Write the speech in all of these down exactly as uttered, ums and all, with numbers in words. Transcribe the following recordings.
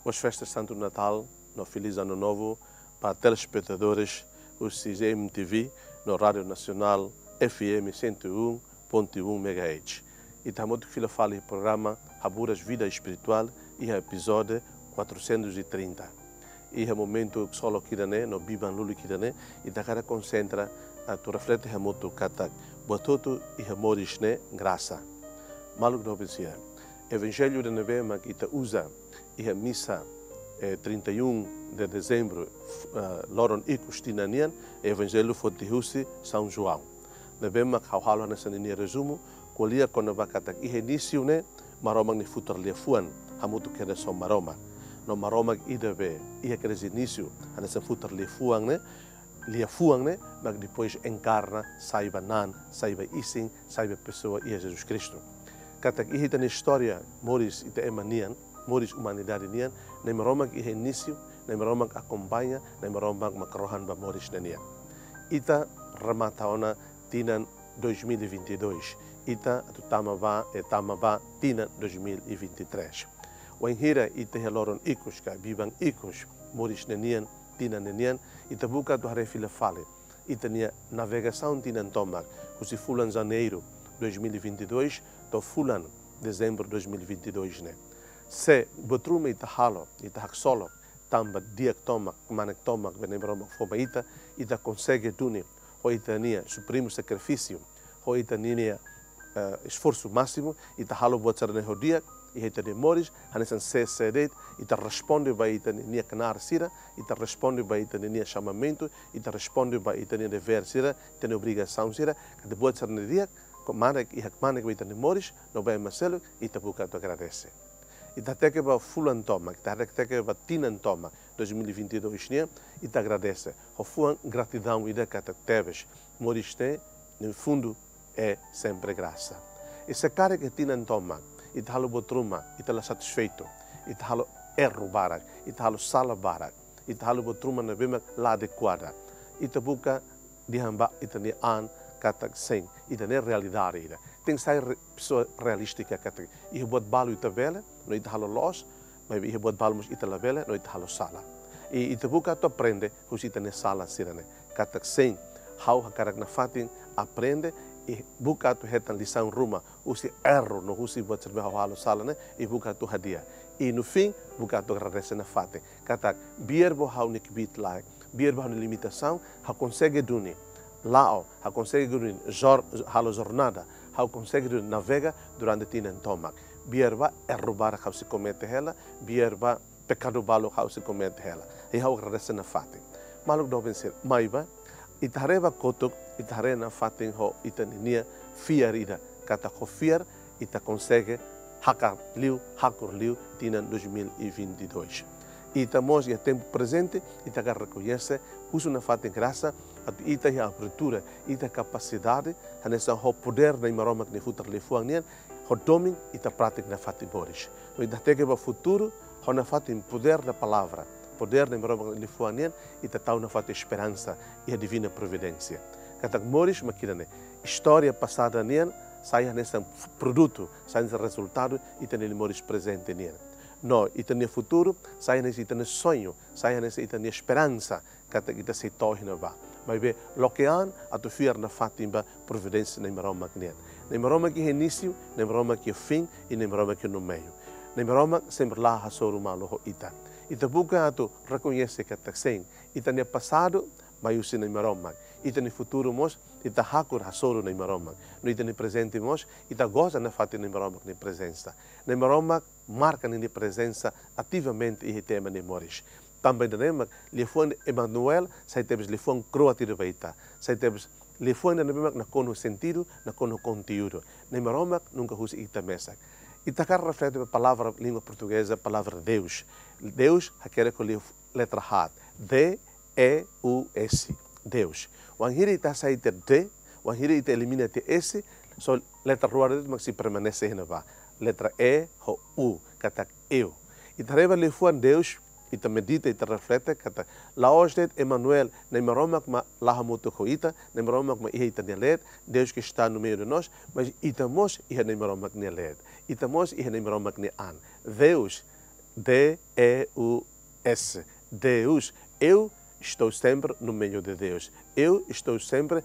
Boas festas Santo Natal no Feliz Ano Novo ba telespetadores husi G M T V no Rádio Nasionál F M cento e um ponto um megahertz. Ita hamutuk fila fali programa Haburas Vida Espirituál iha epizódiu quatrocentos e trinta. Iha momentu ksolok ida-ne'e no biban lulik ida-ne'e, ita hakarak konsentra atu reflete hamutuk katak buat hotu iha moris ne'e grasa. Maluk doben sira, Evanjellu ida ne'ebé mak ita uza iha misa, eh, trinta e um de dezembro, f-, eh, loron ikus tinan nian, Evanjellu foti husi São João. Ne'ebé mak ha'u halo hanesan ninia rezumu, ko'alia kona-ba katak iha inísiu ne'e Maromak nia futar liafuan hamutuk kedas ho Maromak. No Maromak ida be iha kedas inísiu hanesan futar liafuan ne'e, liafuan ne'e, mak depois enkarna, sai ba na'an, sai ba isin, sai ba pesoa iha Jesus Kristu. Katak iha ita-nia istória moris ita ema nian, moris umanidade nian, Na'i Maromak iha inísiu, Na'i Maromak akompaña, Na'i Maromak mak rohan ba moris ne'e nian. Ita remata ona tinan dois mil e vinte e dois, ita atu tama ba, eh, tama ba tinan dois mil e vinte e três. Wainhira ita iha loron ikus ka biban ikus moris ne'e nian, tinan ne'e nian, ita buka atu haree fila fali ita-nia navegasaun tinan tomak, husi fulan Janeiru dois mil e vinte e dois to'o fulan Dezembru dois mil e vinte e dois ne'e. Se buat ruma ita halo, ita haksolok, tanba di'ak tomak, kmanek tomak be Na'i Maromak fó ba ita, ita konsege duni ho ita-nia supremu sakrifísiu, ho ita-nia, eh, esforsu másimu, ita halo buat sira-ne'e ho di'ak iha ita-nia moris, hanesan sé sé de'it, ita responde ba ita-nia knaar sira, ita responde ba ita-nia xamamentu, ita responde ba ita-nia devér sira, ita-nia obrigasaun sira, katak buat sira-ne'e di'ak, kmanek, iha kmanek ba ita-nia moris, no ba ema seluk, ita buka atu agradese. Ita hateke ba fulan tomak, ita hateke ba tinan tomak, dois mil e vinte e dois nian, ita agradese. Ho fuan gratidaun ida katak tebes, moris ne'e, no fundo, é sempre graça. I se karik iha tinan tomak ita halo buat ruma, ita la satisfeitu, ita halo erru barak, ita halo sala barak, ita halo buat ruma ne'ebé mak la adekuada, ita buka dehan ba ita-nia an katak sein, ita-nia realidade ida. Tenke sai re-, pesoa realístika katak iha buat balu ita bele, no ita halo loos, maibé iha buat balu mós ita labele, no ita halo sala. I ita buka atu aprende husi ita-nia sala sira-ne'e. Katak sein, ha'u hakarak nafatin aprende, i buka atu hetan lisaun ruma husi erru no husi buat sira-ne'ebé ha'u halo sala ne'e, i buka atu hadi'a. I no fim, buka atu agradese nafatin. Katak, biar ba ha'u-nia kbiit-laek, biar ba ha'u-nia limitasaun, ha'u konsege duni la'o, ha'u konsege duni jor-, halo jornada, ha'u konsege duni navega durante tinan tomak. Biar ba erru barak ha'u sei komete hela, biar ba pekadu balu ha'u sei komete hela. I ha'u agradese nafatin. Maluk doben sira, maibé, ita haree ba kotuk, ita haree nafatin ho ita-nia fiar ida, katak ho fiar, ita konsege hakar liu, hakur liu, tinan dois mil e vinte e dois. Ita mós iha tempu prezente, ita hakarak rekoñese, husu nafatin grasa, atu ita iha abertura, ita kapasidade, hanesan ho podér Na'i Maromak nia futar liafuan nian, ho domin ita pratika nafatin moris. No ita hateke ba futuru, ho nafatin podér da palavra, podér Na'i Maromak nia liafuan nian, ita tau nafatin esperansa iha divina providénsia. Katak moris mak ida-ne'e, istória pasada nian sai hanesan produtu, sai hanesan rezultadu ita-nia moris prezente nian. No ita-nia futuru sai hanesan ita-nia soñu, sai hanesan ita-nia esperansa, katak ita sei to'o iha ne'ebá. Maibé loke an atu fiar nafatin ba providénsia Na'i Maromak nian. Na'i Maromak iha inísiu, Na'i Maromak iha fim, i Na'i Maromak iha no meiu. Na'i Maromak sempre la hasoru malu ho ita. Ita buka atu rekoñese katak sein, ita-nia pasadu mai husi Na'i Maromak. Ita-nia futuru mós, ita hakur hasoru Na'i Maromak. No ita-nia prezente mós, ita goza nafatin Na'i Maromak nia prezensa. Na'i Maromak marka ninia prezensa ativamente iha ita ema nia moris. Tanba ida-ne'e mak liafuan Emanuel sai tebes liafuan kroat ida ba ita. Sai tebes liafuan ida ne'ebé mak nakonu sentidu, nakonu konteúdu. Na'i Maromak nunka husi ita mesak. Ita hakarak reflete ba palavra língua portugeza, palavra Deus. Deus hakerek ho liafu-, letra haat. D E U S. Deus. Wainhira ita hasai tiha D, wainhira ita elimina tiha S, só letra rua de'it mak sei permanese iha ne'ebá. Letra E ho U, katak eu. Ita haree ba liafuan Deus, ita medita, ita reflete, katak la'ós de'it Emanuel, Na'i Maromak mak la hamutuk ho ita, Na'i Maromak mak iha ita-nia leet, Deus que está no meio de nós, mas ita mós iha Na'i Maromak nia leet. Ita mós iha Na'i Maromak nia an. Deus, D E U S. Deus. Eu estou sempre no meio de Deus. Eu estou sempre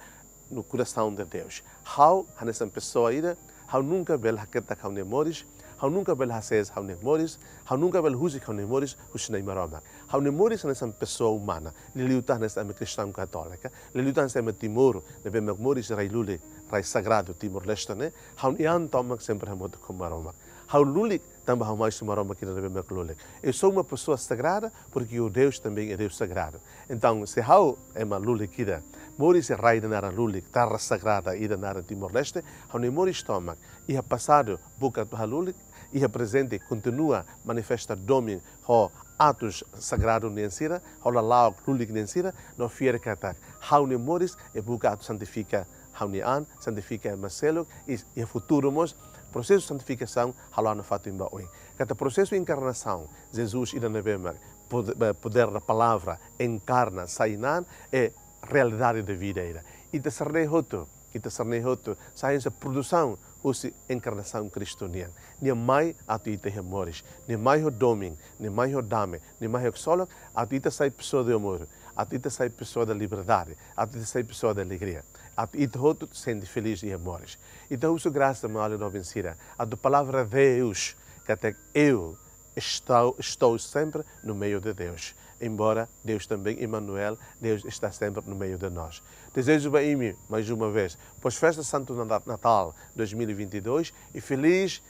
no coração de Deus. Ha'u hanesan pessoa ida, ha'u nunka bele haketak ha'u-nia moris, ha'u nunka bele hasees ha'u-nia moris, ha'u nunka bele husik ha'u-nia moris husi Na'i Maromak. Ha'u-nia moris hanesan pessoa umana, liuliu tan hanesan ema kristaun katólika, liuliu tan hanesan ema Timor, ne'ebé mak moris rai lulik, rai sagradu Timor-Leste ne'e, ha'u-nia an tomak sempre hamutuk ho Maromak. Ha'u lulik tanba ha'u mai husi Maromak ida ne'ebé mak lulik. Eu sou uma pessoa sagrada porque o Deus também é Deus sagrado. Entaun, se ha'u ema lulik ida, moris iha rai ida naran lulik, terra sagrada ida naran Timor-Leste, ha'u-nia moris tomak iha pasadu buka atu halulik, iha prezente kontinua manifesta domin ho atus sagradu nian sira, ho lala'ok lulik nian sira, no fiar katak ha'u-nia moris sei buka atu santifika ha'u-nia an, santifika ema seluk, i iha futuru mós prosesu santifikasaun halo nafatin ba oin. Katak prosesu enkarnasaun, Jesus ida ne'ebé mak pod-, eh, podér da palavra, enkarna, sai-na'an, é realidade de vida ida. Ita sira-ne'e hotu, ita sira-ne'e hotu sai hanesan produsaun husi enkarnasaun Kristu nian. Nia mai atu ita iha moris, nia mai ho domin, nia mai ho dame, nia mai ho ksolok, atu ita sai pessoa de amor, atu ita sai pessoa da liberdade, atu ita sai pessoa da alegria, atu ita hotu sente feliz iha moris. Ita husu grasa, maun-alin doben sira, atu palavra Deus, katak eu estou, estou sempre no meio de Deus. Embora Deus também, Emanuel, Deus está sempre no meio de nós. Desejo ba imi, mais uma vez, boas festas Santo Nata-, Natal dois mil e vinte e dois e feliz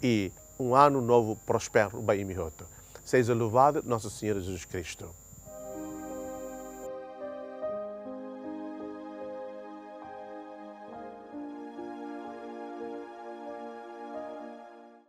e um ano novo próspero ba imi hotu. Seja louvado Nosso Senhor Jesus Cristo.